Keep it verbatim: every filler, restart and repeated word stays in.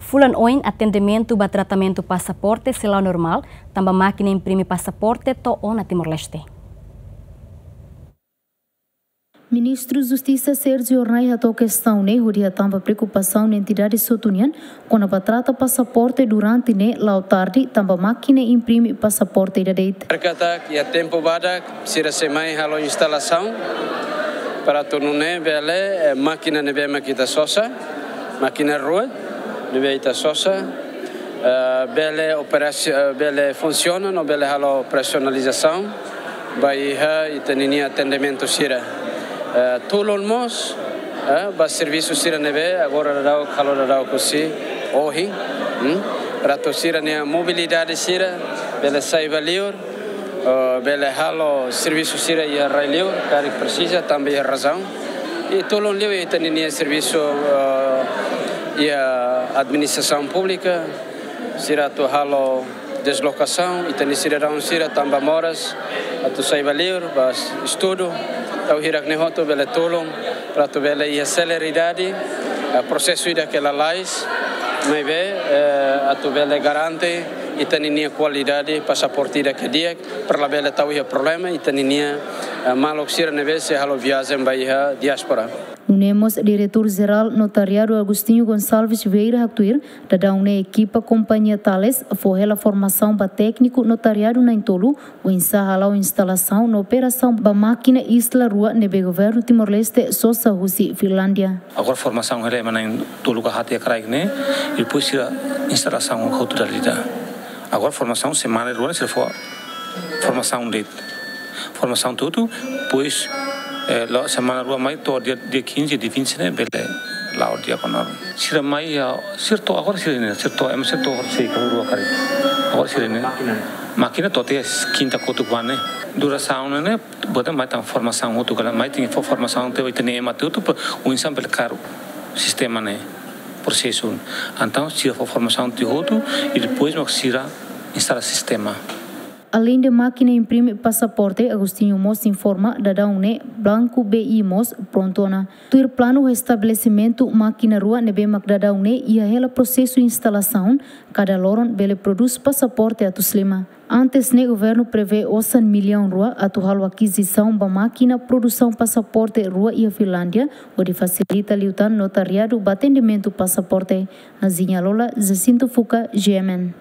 Fulan oin atendimentu ba tratamentu pasaporte sei la'o normál, tanba mákina imprime pasaporte to'o ona Timor-Leste. Ministru Justisa Sérgio Hornai hato'o kestaun ne'e hodi hatán ba preokupasaun entidade hotu nian kona-ba trata pasaporte durante ne'e la'o tarde tanba mákina imprime pasaporte ida de'it. Katak iha tempu badak sira sei mai halo instalasaun para atu nune'e bele, eh, mákina ne'ebé mak ita sosa, mákina rua ne'ebé ita sosa, eh, bele operasi-, eh, bele funsiona no bele halo operasionalizasaun ba iha ita-ninia atendimentu sira. Eh, tulun mós, eh, ba servisu sira ne'ebé agora daudaun, halo daudaun husi ohin, hmm? Para atu sira-nia mobilidade sira bele sai ba liur, eh, bele halo servisu sira iha rai liur, karik presiza, tanba iha razaun. I tulun liu ita-ninia servisu, eh, iha administrasaun públika, sira atu halo deslokasaun, ita-nia sidadaun sira tanba moras, atu sai ba liur, ba estudu, tau hirak ne'e hotu bele tulun, para atu bele iha seleridade, eh, prosesu ida ke lalais, maibé, eh, atu bele garante ita-ninia kualidade pasaporte ida ke di'ak, para labele tau iha problema ita-ninia, eh, maluk sira ne'ebé sei halo viajen ba iha diáspora. Nune'e mós Diretór Jerál Notariadu Agostinho Gonçalves Vieira haktuir, daudaun ne'e ekipa kompañia Thales fó hela formasaun ba tékniku notariadu na'in-tolu, oinsá hala'o instalasaun no operasaun ba mákina Isla rua ne'ebé Governu Timor-Leste sosa husi Finlándia. Agora formasaun hela ema na'in-tolu ka haat iha kraik ne'e, i depois sira instalasaun hotu dala ida. Agora formasaun semana rua ne'e sira fó formasaun de'it. Formasaun hotu, depois, eh, la'o semana rua mai to'o dia, dia quinze, dia vinte ne'e bele la'o di'ak ona. Sira mai iha, sira to'o, agora sira ne'e, sira to'o, ema sira to'o sei ka rua karik. Agora sira ne'e. Mákina. Mákina to'o tiha kinta kotuk ba ne'e. Durasaun ne'e, buat mai tan formasaun hotu karik, mai tenke fó formasaun tiha ita-nia ema hotu, pa oinsá bele kaer sistema ne'e, prosesu. Entaun, sira fó formasaun tiha hotu, i depois mak sira instala sistema. Aleinde mákina imprime pasaporte, Agostinho mós informa, daudaun ne'e Banco B I mós prontu ona. Tuir planu estabelesimentu mákina rua ne'ebé mak daudaun ne'e iha hela prosesu instalasaun, kada loron bele prodús pasaporte atus lima. Antes ne'e Governu prevee osan millaun rua atu halo akizisaun ba mákina produsaun pasaporte rua iha Finlándia, hodi fasilita liután notariadu ba atendimentu pasaporte. Nazinha Lola, Jacinto Fuca, G M N.